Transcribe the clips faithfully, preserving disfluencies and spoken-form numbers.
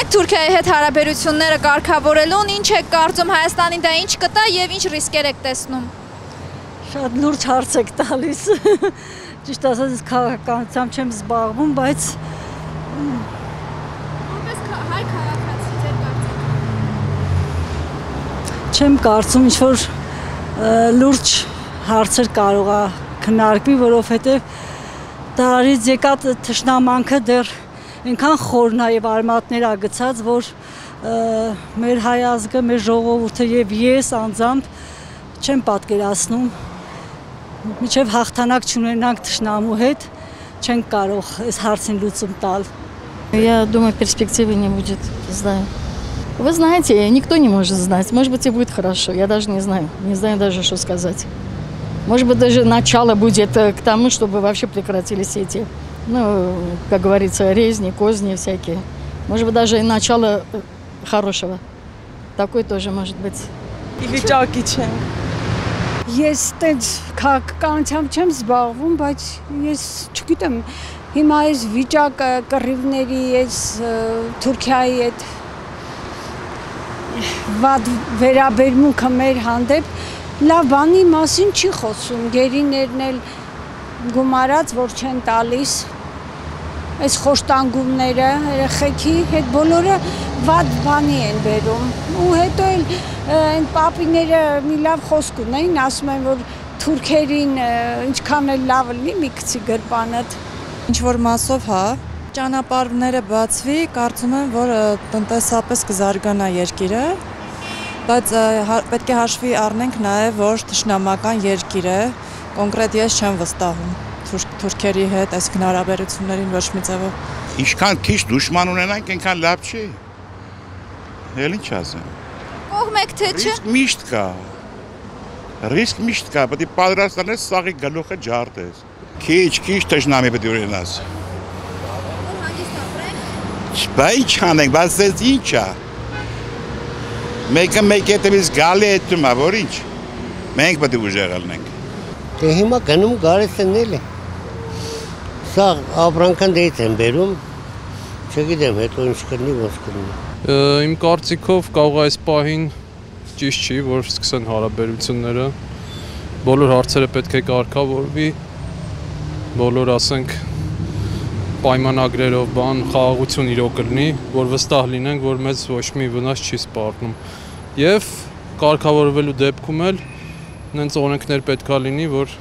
Թուրքիայի հետ հարաբերությունները կարգավորելուն ինչ եք կարծում, Հայաստանին դա ինչ կտա եւ ինչ ռիսկեր եք տեսնում։ Շատ լուրջ հարց եք տալիս։ Ճիշտ ասած քաղաքականությամբ չեմ զբաղվում, բայց որպես հայ քաղաքացի ձեր կարծիքը։ Չեմ կարծում ինչ որ լուրջ հարցեր կարող է քննարկվի, որովհետեւ դարից եկած թշնամանքը դեռ այնքան խորն է եւ արմատներ ա գցած, որ մեր հայ ազգը, մեր ժողովուրդը եւ ես անձամբ չեմ պատկերացնում մինչեւ հաղթանակ չունենանք թշնամու հետ, չենք կարող այս հարցին լուծում տալ։ Я думаю, перспективы не будет, знаю. Вы знаете, никто не может знать. Может быть, и будет хорошо. Я даже не знаю. Не знаю даже, что сказать. Может быть, даже начало будет к тому, чтобы вообще прекратились эти, ну, как говорится, резни, козни всякие. Может быть, даже и начало хорошего. Такое тоже может быть. И վիճակի չեմ։ Ես տենց քաղաքականությամբ չեմ զբաղվում, բայց ես չգիտեմ, հիմա այս վիճակը կռիվների, այս Թուրքիայի այդ վատ վերաբերմունքը մեր հանդեպ լավ բանի մասին չի խոսում, գերիներն էլ գումարած, որ չեն տալիս, այս խոշտանգումները, երեխեքի հետ բոլորը վատ բանի են բերում, ու հետո էլ այն պապիները մի լավ խոսք ունեին, ասում են, որ թուրքերին ինչքան էլ լավ լինի մի քցի գրպանդ։ Ինչ-որ մասով հա, ճանապարհները բացվի, կարծում եմ, որ տնտեսապես կզարգանա երկիրը, բայց պետք է հաշվի առնենք նաև, որ թշնամական երկիր է, կոնկրետ ես չեմ վստահում թուրքերի հետ այս հարաբերություններին ոչ մի ձևով։ Ինչքան քիչ դուշման ունենանք, այնքան լավ չի։ Էլ ինչ ասեմ։ Կողմեք թե չէ։ Ռիսկ միշտ կա։ Ռիսկ միշտ կա, պետք է պատրաստանես սաղի գլուխը ջարդես։ Քիչ-քիչ թշնամի պետք է ունենաս։ Բա ինչ անենք, բայց դες ինչ է։ Մեկը մեկ հետևից գալի հետում է, որ ինչ։ Մենք պետք է ուժեղ լինենք։ Դե հիմա գնում գալիս են էլի։ Սա ապրանքան դեից են բերում, չգիտեմ հետո ինչ կլինի, ոնց կլինի։ Իմ կարծիքով կարող է այս պահին ճիշտ չի, որ սկսեն հարաբերությունները։ Բոլոր հարցերը պետք է կարգավորվի, բոլոր ասենք պայմանագրերով բան, խաղաղություն իրոք կլինի, որ վստահ լինենք, որ մեզ ոչ մի վնաս չի սպառնում։ Եվ կարգավորվելու դեպքում էլ նենց օրենքներ պետք է լինի, որ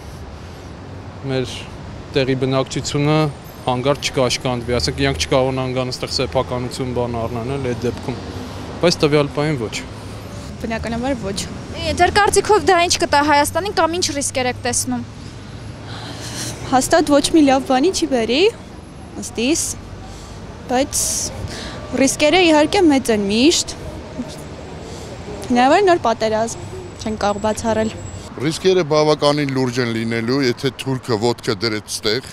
մեր տեղի բնակչությունը հանգարտ չկաշկանդվի, ասենք իրանք չկարողանան գան այստեղ սեփականություն բան առնել այդ դեպքում, բայց տվյալ պահին ոչ։ Բնականաբար ոչ։ Ձեր կարծիքով դա ինչ կտա Հայաստանին կամ ինչ ռիսկեր եք տեսնում։ Հաստատ ոչ մի լավ բանի չի բերի, ըստիս, բայց ռիսկերը իհարկե մեծ են միշտ։ Հնարավոր նոր պատերազմ չեն կարող բացառել։ Ռիսկերը բավականին լուրջ են լինելու, եթե թուրքը ոտքը դրեց ստեղ,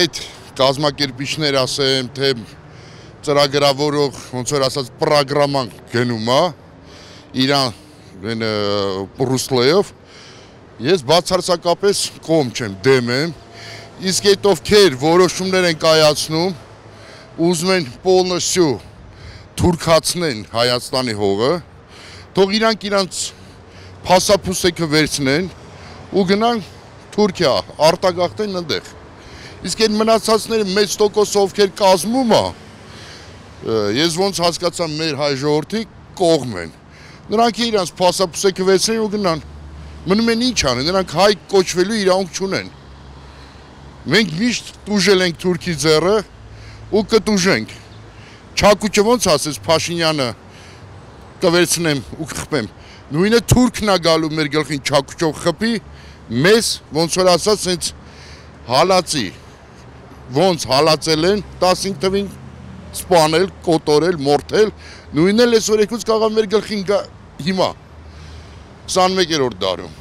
այդ կազմակերպիչներ ասեմ, թե ծրագրավորող, ոնց որ ասած, պրոգրաման գնում է, իրան ռուսլեով, ես բացարձակապես կողմ չեմ, դեմ եմ, իսկ այդ ովքեր որոշումներ են կայացնում, ուզում են պոլնոսյու թուրքացնեն Հայաստանի հողը, թող իրանք իրանց փասափուսեքը վերցնեն ու գնան Թուրքիա, արտագաղթեն այնտեղ։ Իսկ այդ մնացածները մեծ տոկոս ովքեր կազմում է, ես ոնց հասկացա մեր հայ ժողովրդի կողմ են։ Նրանք իրանց փասափուսեքը վերցնեն ու գնան։ Մնում են ինչ անեն, նրանք հայ կոչվելու իրավունք չունեն։ Մենք միշտ տուժել ենք Թուրքի ձեռը ու կտուժենք։ Չակուճը ոնց ասես Փաշինյանը կվերցնեմ ու կխփեմ։ Նույնը թուրքն է գալու մեր գլխին չակուճով խփի, մեզ ոնց որ ասած հենց հալածի, ոնց հալածել են, տասնհինգ թվին սպանել, կոտորել, մորթել, նույնն էլ այսօր եկուց կարող մեր գլխին գա հիմա, քսանմեկերորդ դարում։